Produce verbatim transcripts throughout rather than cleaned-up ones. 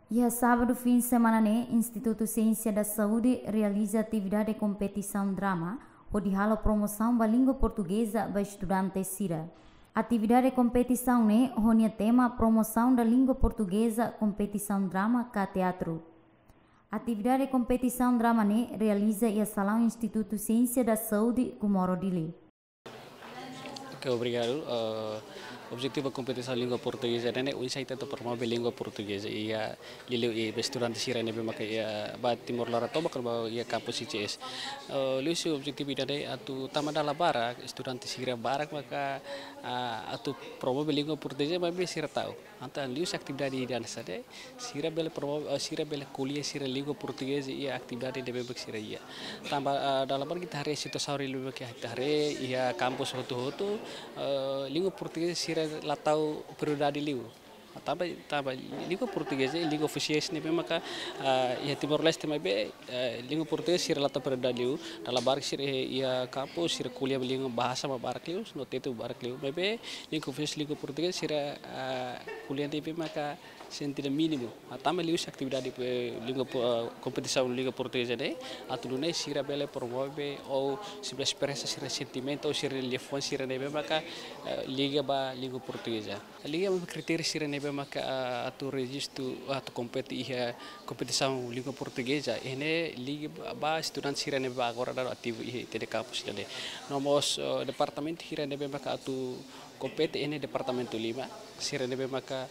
Iha sábadu fim semana ne'e, Institutu Siénsia da Saúde realiza atividade kompetisaun drama hodi halo promosaun ba língua portugeza ba estudante sira. Atividade kompetisaun ne'e ho nia tema Promoção da Língua Portuguesa, kompetisaun drama ka teatru. Atividade kompetisaun drama ne'e realiza iha salaun Institutu Siénsia da Saúde, Comoro, Dili. Ok, obrigadu. Ah, objetivu kompetisaun língua portugeza ne'e, oinsá ita atu promove língua portugeza iha liuliu ba estudante sira ne'ebé maka iha ba Timor laran tomak ka ba iha kampus I C S. Ah, liuhusi objetivu ida-ne'e atu tanba dala barak estudante sira barak maka, ah, atu promove língua portugeza maibé sira ta'uk. Entaun liuhusi atividade ida-ne'e sira bele promove, ah, sira bele ko'alia sira língua portugeza iha atividade ne'ebé maka sira iha. Tanba, ah, dala barak ita haree situasaun ne'ebé maka ita haree iha kampus hotu-hotu, ah, língua portugeza sira la tau prioridade liu. Tanba, tanba língua portugeza língua ofisiál ne'ebé maka, ah, iha Timor-Leste maibé, ah, língua portugeza sira la tau prioridade liu. Dala barak sira iha kampus sira ko'alia língua bahasa mak barak liu, no tetu barak liu. Maibé língua ofisiál língua portugeza sira, ah, ko'alia ne'ebé maka sente mínimu. Ah, tanba liuhusi atividade, eh, língua po-, ah, kompetisaun língua portugeza ne'e, atu nune'e sira bele promove ou sira bele espresa sira sentimentu ou sira liafuan sira ne'ebé maka, eh, liga ba língua portugeza. Liga ba kritériu sira ne'ebé maka, ah, atu rejistu, atu kompete iha kompetisaun língua portugeza, iha ne'e liga ba, ba estudante sira ne'ebé agora daudaun ativu iha ita-nia kampus ida-ne'e. No mós, eh, departamentu sira ne'ebé maka atu kompete iha ne'e departamentu lima, sira ne'ebé maka,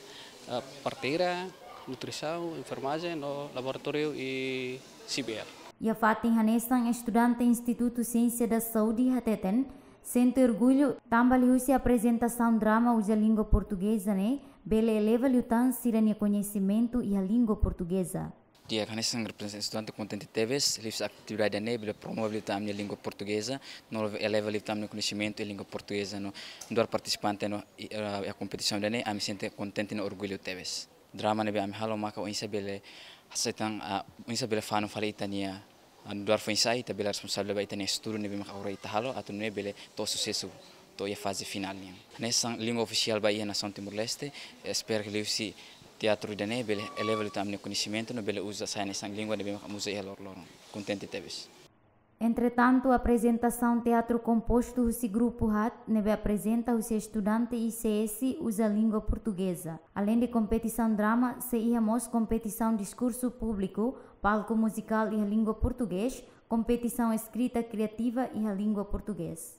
eh, parteira, nutrisaun, enfermajen, no laboratóriu i C B L. Iha fatin hanesan, estudante Institutu Siénsia da Saúde hateten sente orgullu tanba liuhusi aprezentasaun drama uza língua portugeza ne'e bele eleva liután sira-nia koñesimentu iha língua portugeza. Di'ak, hanesan reprezentante estudante kontente tebes liuhusi atividade ne'e bele promove liután ami-nia língua portugeza, no eleva liután ami-nia koñesimentu iha língua portugeza no nu'udar partisipante no, i, eh, iha kompetisaun ida-ne'e, ami sente kontente no orgullu tebes. Drama ne'ebé ami halo maka oinsá bele hasai tan, ah, oinsá bele fanu fali ita-nia, ah, nu'udar foin-sa'e ita bele responsavel ba ita-nia estudu ne'ebé maka agora ita halo atu nune'e bele to'o susesu to'o iha faze finál nian. Hanesan língua ofisiál ba iha nasaun Timor-Leste, espera katak liuhusi teatru ida-ne'e bele eleva liután ami-nia koñesimentu no bele uza sai hanesan língua ne'ebé maka ami uza iha loroloron. Kontente tebes. Entretantu, aprezentasaun teatru kompostu husi grupu haat ne'ebé aprezenta husi estudante I C S uza língua portugeza. Aleinde kompetisaun drama, sei iha mós kompetisaun diskursu públiku, palku muzikál iha língua portugés, kompetisaun eskrita kriativa iha língua portugés.